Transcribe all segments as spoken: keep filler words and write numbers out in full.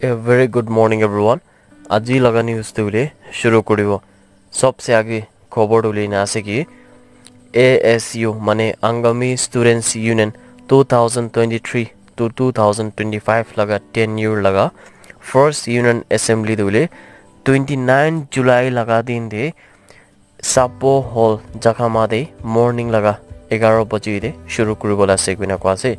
A very good morning, everyone. Aji laga news tu hoile shuru kuribo. Sobse age khobor tu hoile ena ase ki A S U mane Angami Students Union two thousand twenty-three to two thousand twenty-five laga tenure laga first union assembly tu hoile twenty-nine July laga din te Sapo Hall Jakhama te morning laga egaro baji te shuru kuribo la ase koina koa ase.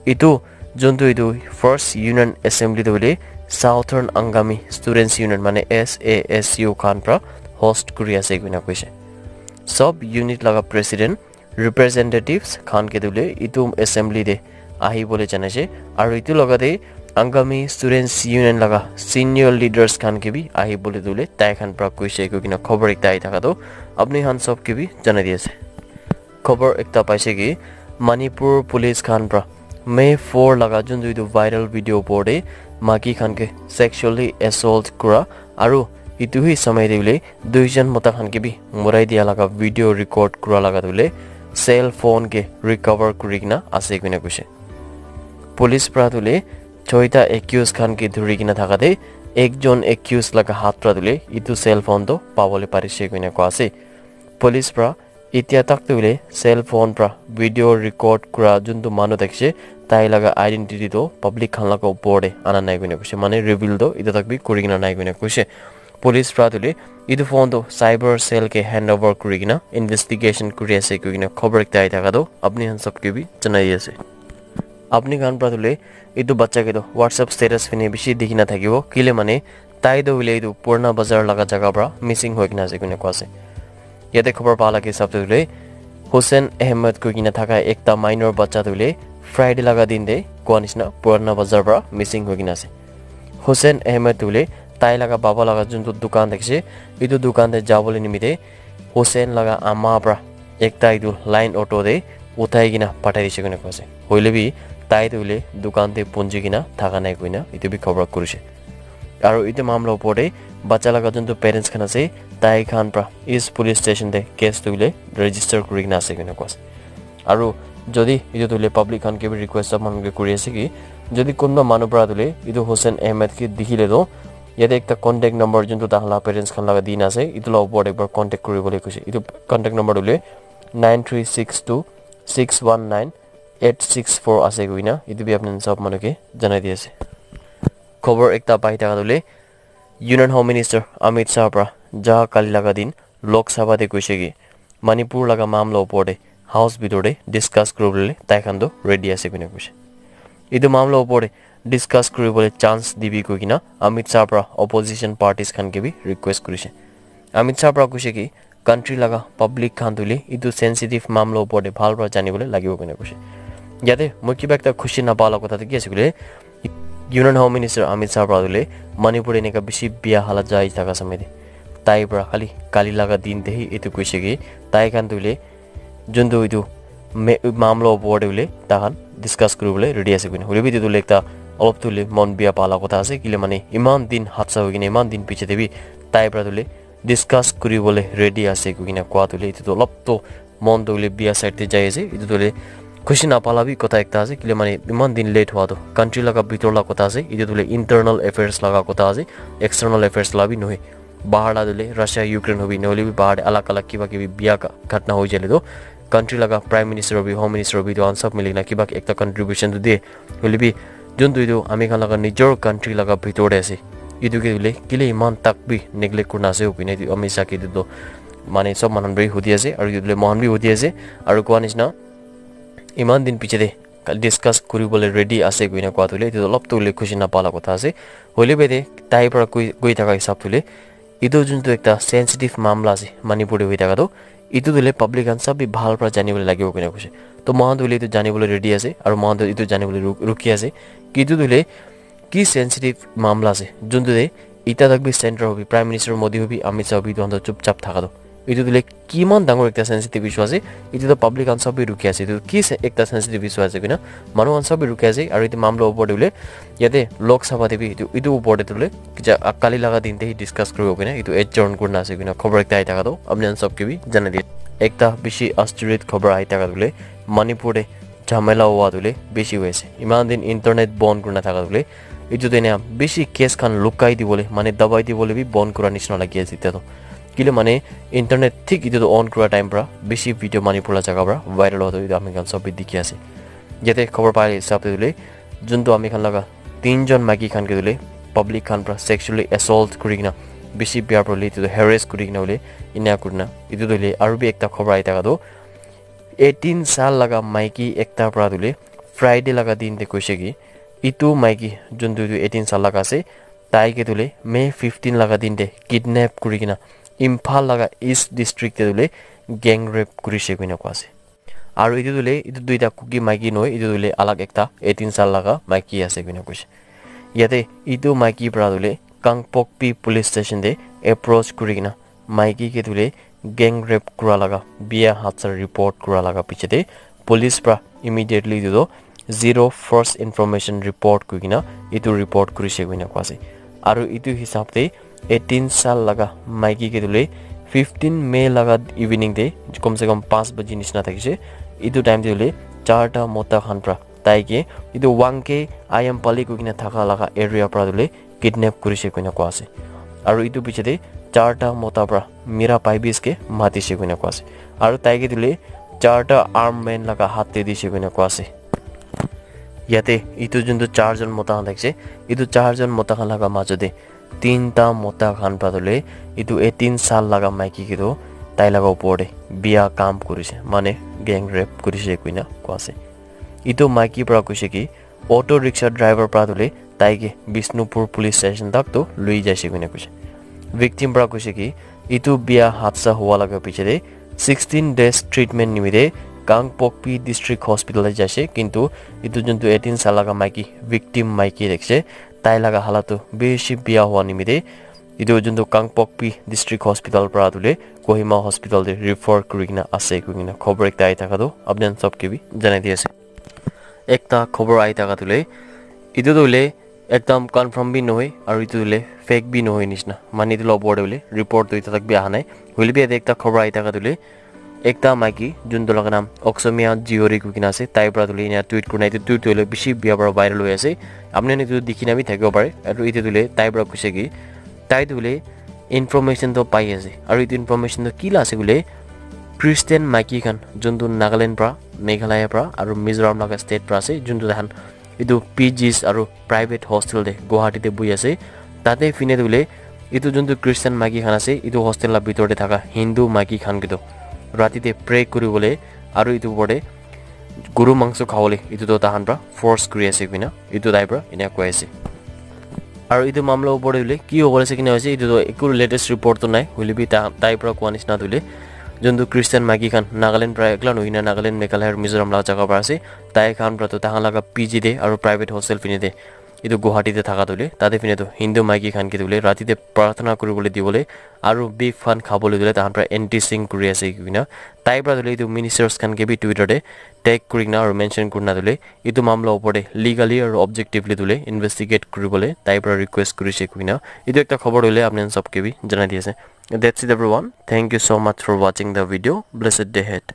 Itu juntu itu first union assembly tu hoile Southern Angami Students Union mane S A S U khan pra host kuri ase koina koise. Sub unit laga president representatives khan ke tu hoile itu assembly te ahi bole janaise aru itu laga te Angami Students Union laga senior leaders khan ke bi ahi bole tu hoile tai khan pra koise koi kena khobor ekta ahi thaka tu apni khan sob ke bi janai di ase. Khobor ekta paise ki Manipur police khan pra May four laga juntu itu viral video opor te maki khan ke sexually assault kura aru itu hi samay te hoile duijon mota khan ke bi murai dia laga video record kura laga tu hoile cell phone ke recover kuri kena ase koina koise. Police pra tu hoile choita accused khan ke dhuri kena thaka te ekjon accused laga hath pra tu hoile itu cell phone to pabole parise koina koa ase. Police pra etia tak tu hoile cell phone pra video record kura juntu manu thakise tai laga identity to public khan laga opor te ana nai koina koise mane reveal to etia tak bi kuri kena nai koina koise. Police pra tu hoile itu phone to cyber cell ke hand over kuri kena investigation kuri ase koi kena khobor ekta ahi thaka tu apni khan sob ke bi janai ase. Apni khan pra tu hoile itu bacha ke tu WhatsApp status phine bishi dikhi na thakibo kile mane tai tu hoile itu Purana Bazar laga jaga pra missing hoi kena ase koina koa ase. Yate khobor pa laga hisab tu hoile Hussein Ahmed koi kena thaka ekta minor bacha tu hoile Friday laga din te koa nishina Purana Bazar pra missing hoi kena ase. Hussein Ahmed tu hoile tai laga baba laga juntu dukan thakise itu dukan te jabole nimite Hussein laga ama pra ekta itu line auto te uthai kena pathai dise koina koa ase. Hoile bi tai tu hoile dukan te punji kena thaka nai koina itu bi khobor kurise. Aru itu mamla opor te bacha laga juntu parents khan ase tai khan pra East Police Station te case tu hoile register kuri kena ase koina koa ase. Aru jodi itu tu hoile public khan ke bi request manu ke kuri ase ki jodi kunba manu pra tu hoile itu Hussein Ahmed ke dikhile tu yate ekta contact number juntu tahan la parents khan laga dina ase itu la opor te ekbar contact kuri bole koise. Itu contact number tu hoile nine three six two six one nine eight six four ase koina itu bi apni khan sob manu ke janai di ase. Khobor ekta pai thaka tu hoile Union Home Minister Amit Shah pra ja kali laga din Lok Sabha te koise ki Manipur laga mamla opor te house bitor te discuss kuribole tai khan tu ready ase koina koise. Itu mamla opor te discuss kuribole chance dibi koi kena Amit Shah pra opposition parties khan ke bi request kurise. Amit Shah pra koise ki country laga public khan tu hoile itu sensitive mamla opor te bhal pra janibole lagibo koina koise. Yate moi kiba ekta khushi napa la kotha tu ki ase koile Union Home Minister Amit Shah pra tu hoile Manipur eneka bishi bia hala jai thaka samay te tai pra khali kali laga din te hi itu koise ki tai khan tu hoile juntu itu me- mamla opor te hoile tai khan discuss kuribole ready ase koina hoile bi itu tu hoile ekta olop tu hoile mon bia pa la kotha ase kile mane iman din hatsa hoi kena iman din piche te bi tai pra tu hoile discuss kuribole ready ase koi kena koa tu hoile itu tu olop tu mon tu hoile bia side te jai ase itu tu hoile khushi napa la bi kotha ekta ase kile mane iman din late hua tu country laga bitor la kotha ase itu tu hoile internal affairs laga kotha ase external affairs la bi nohoi bahar la tu hoile Russia Ukraine hobi nohole bi bahar te alag alag kiba kibi bia ka- ghatna hoi jale tu country laga prime minister hobi home minister hobi itu khan sob mili kena kiba ekta contribution tu de hoile bi juntu itu ami khan laga nijor country laga bitor te ase itu ke hoile kile iman tak bi neglect kurina ase hobi na itu ami sake itu tu mane sob manu bi hudi ase aru itu hoile mohan bi hudi ase aru koa nishina iman din piche te discuss kuribole ready ase koina koa tu hoile itu olop tu hoile khushi napa la kotha ase hoile bi de tai pra koi koi thaka hisab tu hoile itu juntu ekta sensitive mamla ase Manipur te hoi thaka tu itu tu hoile public khan sob bi bhal pra janibole lagibo koina koise to mohan tu hoile itu janibole ready ase aru mohan tu itu janibole ru- rukhi ase ki itu tu hoile ki sensitive mamla ase juntu te eta tak bi center hobi prime minister Modi hobi Amit Shah hobi itu khan tu chup chap thaka tu itu tu hoile kiman dangor ekta sensitive issue ase itu tu public khan sob bi rukhi ase itu ki se- ekta sensitive issue ase koina manu khan sob bi rukhi ase aru itu mamla opor te hoile yate Lok Sabha te bi itu itu opor te tu hoile kija kali laga din te hi discuss kuribo koina itu adjourn kurina ase koina khobor ekta ahi thaka tu apni khan sob ke bi janai di ekta bishi asturit khobor ahi thaka tu hoile Manipur te jhamela hua tu hoile bishi hoi ase iman din internet bon kurina thaka tu hoile Etu tu ena bishi case khan lukai dibole, mane dabai dibole bi bon kura nishina lagi ase etia tu. Kile mane internet thik etu tu on kura time pra bishi video Manipur la jaga pra viral hotu etu ami khan sob bi dikhi ase. Yate khobor pai hisab te tu le juntu ami khan laga tinjon maiki khan ke tu le public khan pra sexually assault kuri kena bishi bia pra le etu tu harass kuri kena hoile ena kurina etu tu le aru bi ekta khobor ahi thaka tu eighteen sal laga maiki ekta pra tu le Friday laga din te koise ki etu maiki juntu tu eighteen sal laga ase tai ke tu le May fifteen laga din te kidnap kuri kena Imphal laga East District te tu le gang rape kurise koina koa ase. Aru etu tu le etu duita Kuki maiki nohoi, etu tu le alag ekta eighteen sal laga maiki ase koina koise. Yate etu maiki pra tu le Kangpokpi Police Station te approach kuri kena maiki ke tu le gang rape kura laga bia hadsa report kura laga piche te police pra immediately etu tu zero first information report kuri kena etu report kurise koina koa ase. Aru etu hisab te eighteen sal laga maiki ke tu le fifteen May laga evening te kom se kom paanch baji nishina thakise. Etu time te tu le charta mota khan pra tai ke etu Wangke Ayampali koi kena thaka laga area pra tu le kidnap kurise koina koa ase. Aru etu piche te charta mota pra Mira Paibis ke matise koina koa ase. Aru tai ke tu le charta armed man laga hath te dise koina koa ase. Yate etu juntu charjon mota khan thakise, etu charjon mota khan laga majo te tinta mota khan pra tu le etu eighteen sal laga maiki ke tu tai laga upor te bia kam kurise, mane gang rape kurise koina koa ase. Etu maiki pra koise ki auto rickshaw driver pra tu le tai ke Bishnupur Police Station tak tu lui jaise koina koise. Victim pra koise ki etu bia hadsa hua laga piche te sixteen days treatment nimite Kangpokpi District Hospital te jaise, kintu etu juntu eighteen sal laga maiki, victim maiki thakise, tai laga halat tu bishi bia hua nimite etu juntu Kangpokpi District Hospital pra tu le Kohima Hospital te refer kuri kena ase koi kena khobor ekta ahi thaka tu apni khan sob ke bi janai di ase. Ekta khobor ahi thaka tu le etu tu le ekdam confirm bi nohoi aru etu tu le fake bi nohoi nishina, mane etu la upor te hoile report tu eta tak bi aha nai. Hoile bi yate ekta khobor ahi thaka tu le ekta maiki juntu laga naam Oksomia Jiori koi kena ase, tai pra tu le ena tweet kurina, etu tweet tu hoile bishi bia pra viral hoi ase, apni khan etu dikhi na bi thakibo pare. Aru etu tu le tai pra koise ki tai tu le information tu pai ase, aru etu information tu ki la ase koile Christian maiki khan juntu Nagaland pra, Meghalaya pra aru Mizoram laga state pra ase, juntu tai khan etu P Gs aru private hostel te Guwahati te buhi ase. Tate phine tu hoile etu juntu Christian maiki khan ase, etu hostel la bitor te thaka Hindu maiki khan ke tu rati te pray kuri bole aru etu upor te guru mangso khabole etu tu tahan pra force kuri ase koina etu tai pra ena koi ase. Aru etu mamla upor te hoile ki hobole ase kina hoise, etu tu eku latest report tu nai, hoile bi ta-, tai pra koa nishina tu hoile juntu Christian maiki khan Nagaland pra ekla nohoi na Nagaland, Meghalaya aru Mizoram la jaga pra ase. Tai khan pra tu tahan laga P G te aru private hostel phine te etu Guwahati te thaka tu hoile tate phine tu Hindu maiki khan ke tu hoile rati te prarthana kuri bole di bole aru beef khan khabole tu hoile tahan pra anti sing kuri ase koina tai pra tu hoile etu ministers khan ke bi Twitter te tag kuri kena aru mention kurina tu hoile etu mamla upor te legally aru objectively tu hoile investigate kuri bole tai pra request kurise koina etu ekta khobor tu hoile apni khan sob ke bi janai di ase. That's it everyone. Thank you so much for watching the video. Blessed day ahead.